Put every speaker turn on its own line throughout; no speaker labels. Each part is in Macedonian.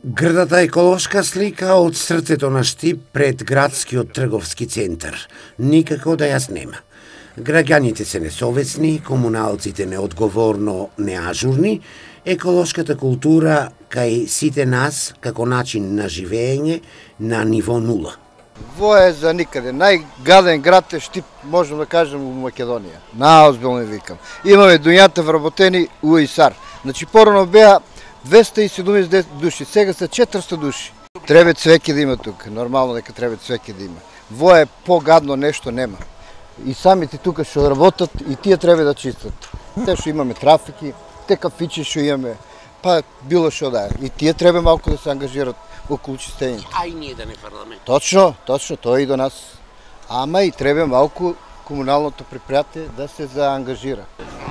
Грдата еколошка слика од срцето на Штип пред градскиот трговски центар. Никако да јас нема. Граѓаните се несовесни, комуналците неодговорно неажурни, еколошката култура кај сите нас како начин на живење на ниво нула.
Во е за никаде. Најгаден град е Штип, можем да кажем, у Македонија. Наозбилно викам. Имаме дуњата вработени у ИСАР. Значи порано беа 270 души, сега се 400 души. Треба цвеќе да има тука, нормално дека треба цвеќе да има. Во е погадно нешто нема. И самите тука што работат и тие треба да чистат. Те што имаме трафики, те кафичи што имаме, па било што да е. И тие треба малку да се ангажират околу чистењето.
А и ние да не фрламе.
Точно, тоа и до нас. Ама и треба малку комуналното предпријатие да се заангажира.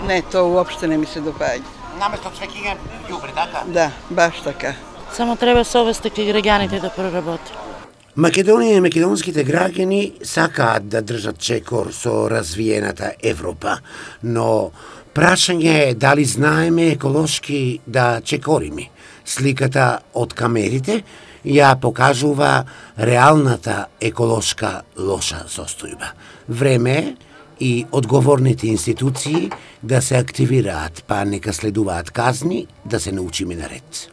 Не, тоа уопште не ми се допаѓа.
Наместо цвеќе ѓубре, така?
Да, баш така.
Само треба совест кај граѓаните да проработи.
Македонија и македонските граѓани сакаат да држат чекор со развиената Европа, но прашање е дали знаеме еколошки да чекориме. Сликата од камерите ја покажува реалната еколошка лоша состојба. Време е и одговорните институции да се активираат, па нека следуваат казни да се научиме на ред.